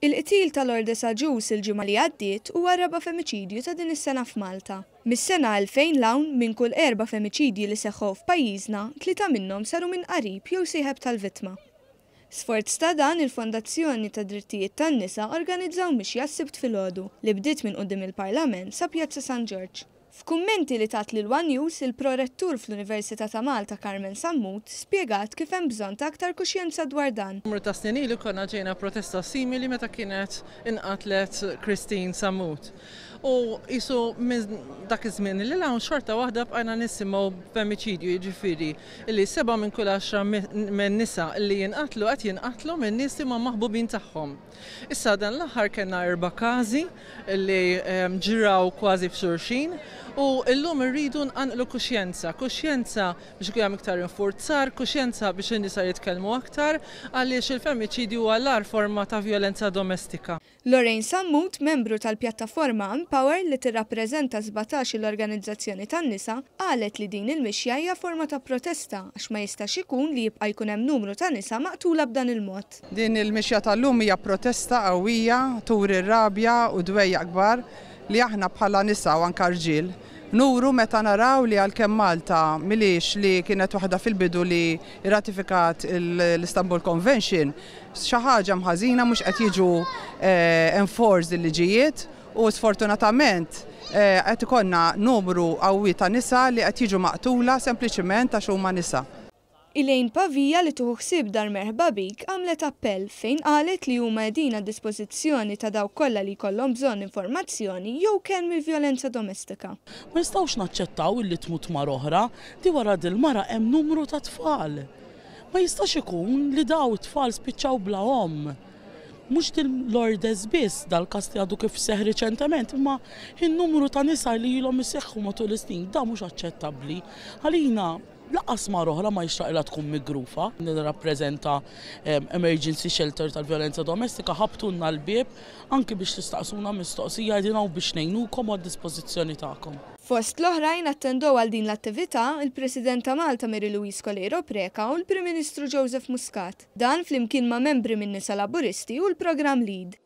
Il-qtil ta' Lourdes Agius il-ġimgħa li għaddiet huwa r-raba' femiċidju ta' din is-sena f'Malta. Mis-sena 2000 'l hawn, minn kull erba' femiċidji li seħħew f'pajjiżna, tlieta minnhom saru minn qarib jew sieħeb tal-vittma. Sforz ta' dan, il-Fondazzjoni tad-Drittijiet tan-Nisa organizzaw mixja s-Sibt filgħodu li bdiet minn quddiem il-Parlament sa Pjazza San Ġorġ. F'kummenti li tat lil one News, il-Pro-Rettur fl-Università ta' Malta Carmen Sammut spjegat kif hemm bżonn ta' aktar kuxjenza dwar dan. Numru ta' snin ilu konna ġejna protesta simili meta kienet inqatlet Christine Sammut. U qisu minn dak iż-żmien lil hawn xorta waħda bqajna nisimgħu b'femiċidju, jiġifieri li sebgħa minn kull għaxra minn nisa li jinqatlu qed jinqatlu minn nies li huma maħbubin tagħhom. Issa dan l-aħħar kellna erba' każi li ġraw kważi f'xulxin u llum irridu nqanqlu kuxjenza, kuxjenza biex ikun hemm iktar infurzar, kuxjenza biex in-nisa jitkellmu aktar għaliex il-femiċidju huwa l-agħar forma ta' vjolenza domestika. Lorraine Sammut, membru tal-pjattaforma Empower li tirrappreżenta 17 il-organizzazzjoni tan-nisa, qalet li din il-mixja hija forma ta' protesta għax ma jistax ikun li jibqa' jkun hemm numru ta' nisa maqtula b'dan il-mod. Din il-mixja tal-lum hija protesta qawwija, turi r-rabja u dwejjaq kbar li aħna bħala nisa u anke rġiel nuru meta naraw li għalkemm Malta m'ilhiex li kienet waħda fil-bidu li rratifikat l-Istanbul Convention, xi ħaġa hemm ħażina mhux qed jiġu enforced il-liġijiet u sfortunatament qed ikollna numru qawwi ta' nisa li qed jiġu maqtula sempliċiment għax huma nisa. Elaine Pavia li tieħu ħsieb Dar Merħba Bik għamlet appell fejn qalet li huma qegħdin għad-dispożizzjoni ta' dawk kollha li jkollhom bżonn informazzjoni jew kenn mill-vjolenza domestika. Ma nistgħux naċċettaw illi tmut mara oħra, di wara dil-mara hemm numru ta' tfal. Ma jistax ikun li daw it-tfal spiċċaw bla omm. Mhux din Lourdes biss, dal-każ li għadu kif seħħ riċentement, imma in-numru ta' nisa li ilhom iseħħu matul is-snin, dan mhux aċċettabbli. Għalina lanqas mara oħra ma jixraqilha tkun migrufa. Nirrappreżenta Emergency Shelter tal-Vjolenza Domestika, ħabbtulna l-bieb anki biex tistaqsuna mistoqsija, qegħdin hawn biex ngħinukom u għad-dispożizzjoni tagħkom. Fost l-oħrajn attendew għal din l-attività il-President ta' Malta Mary Louise Coleiro Preca u l-Prim Ministru Joseph Muscat. Dan flimkien ma' membri min-Nisa Laburisti u l-Programm Lead.